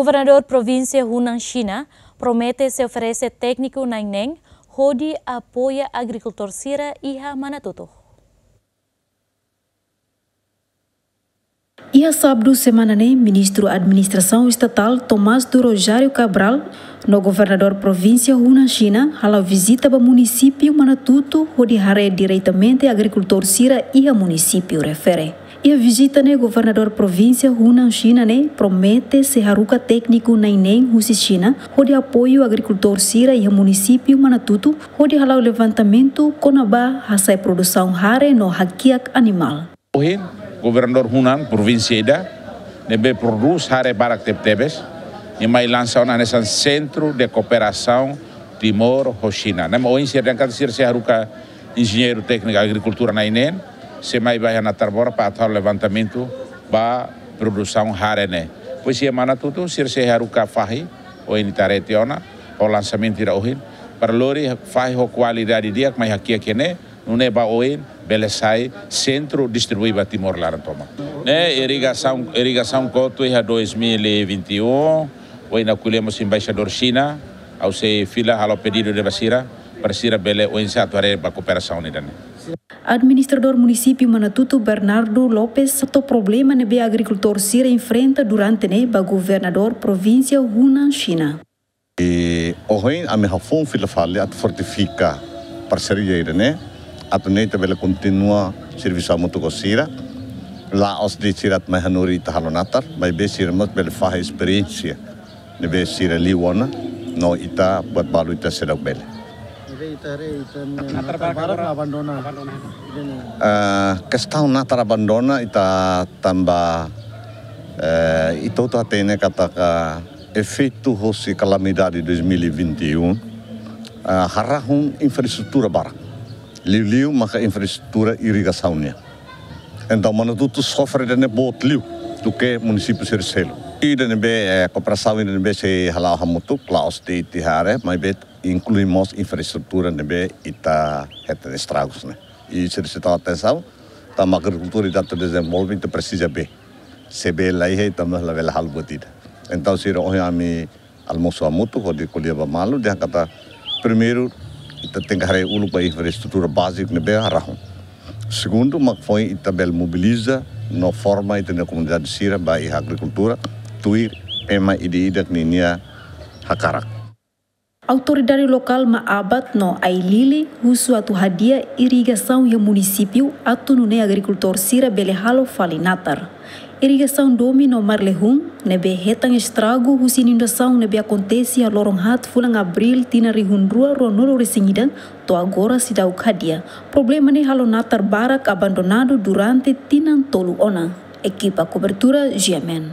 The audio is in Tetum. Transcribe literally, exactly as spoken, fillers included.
Governadór Provínsia Hunan Xina promete sei oferese tékniku na'in neen hodi apoia agrikultór sira iha Manatutu. Iha Sábadu semana ne'e, Ministru Administrasaun Estatál Tomás do Rosário Cabral no Governadór Provínsia Hunan Xina hala'o vizita ba munisípiu Manatutu hodi haree diretamente agrikultór sira iha munisípiu refere. Iha vizita ne'e, Governadór Provínsia Hunan Xina ne'e promete sei haruka tékniku na'in neen husi Xina hodi apoiu agrikultór sira iha munisípiu Manatutu hodi hala'o levantamentu kona-ba hasa'e produsaun hare no hakiak animál. Ohin, Governadór Hunan, provínsia ida ne'ebé prodús hare barak tebetebes, nia mai lansa ona hanesan Centro de Cooperação Timor ho Xina. Ne'e mak ohin sira dehan katak sira sei haruka enjeñeiru tékniku agrikultura na'in neen, sei mai ba iha Natarbora para atu halo levantamentu ba produsaun hare ne'e. Depois iha Manatutu, sira sei haruka fahi, ohin ita haree tiha ona, ho lansamentu ida ohin, para lori fahi ho kualidade di'ak mai hakiak iha ne'e, nune'e ba oin bele sai sentru distribui ba Timor laran tomak. Ne'e irrigasaun, irrigasaun kotu iha dois mil e vinte e um, oin ha'u ko'alia mós ho embaixadór Xina, ha'u sei fila halo pedidu ida ba sira, para sira bele oinsá atu haree ba kooperasaun ida-ne'e. Administradór Munisípiu Manatutu Bernardo Lopes hato'o problema ne'ebé agrikultór sira enfrenta durante ne'e ba Governadór Provínsia Hunan Xina. I ohin ami hafoun fila fali atu fortifika parseria ida-ne'e, atu nune'e ita bele kontinua servisu hamutuk ho sira. La'ós de'it sira atu mai hanorin ita halo natar, maibé sira mós bele fahe esperiénsia ne'ebé sira liu ona, no ita buat balu ita seidauk bele. Ne'ebé ita haree ita-nia natar barak abandona. Abandona. Ah, kestaun natar abandona ita tanba, eh, ita hotu hatene katak efeitu hosi kalamidade dois mil e vinte e um, ah, harahun infraestrutura barak. Liuliu maka infraestrutura irrigasaun nian. Entaun Manatutu sofre ida-ne'e boot liu duké munisípiu sira seluk. Ida ne'ebé, eh, kooperasaun ida ne'ebé sei hala'o hamutuk, la'ós de'it iha área, maibé inklui mós infraestrutura ne'ebé ita hetan estragus ne'e. I sira sei tau atensaun, tanba agrikultura ita atu dezenvolve, ita presiza bee. Se bee la iha, ita mós labele halo buat ida. Entaun sira ohin ami almosu hamutuk hodi ko'alia ba malu, dehan katak primeiru ita tenke haree uluk ba infraestrutura báziku ne'ebé harahun. Segundu, mak foin ita bele mobiliza no forma ita-nia komunidade sira ba iha agrikultura, tuir ema ida-idak ninia hakarak. Autoridade lokál Maabat no Ailili husu atu hadi'a irrigasaun iha munisípiu atu nune'e agrikultór sira bele halo fali natar. Irrigasaun Domi no Marlehun ne'ebé hetan estragu husi inundasaun ne'ebé akontese iha loron haat fulan Abríl tinan rihun rua ruanulu resin ida to'o agora seidauk hadi'a. Problema ne'e halo natar barak abandonadu durante tinan tolu ona. Ekipa kobertura G M N.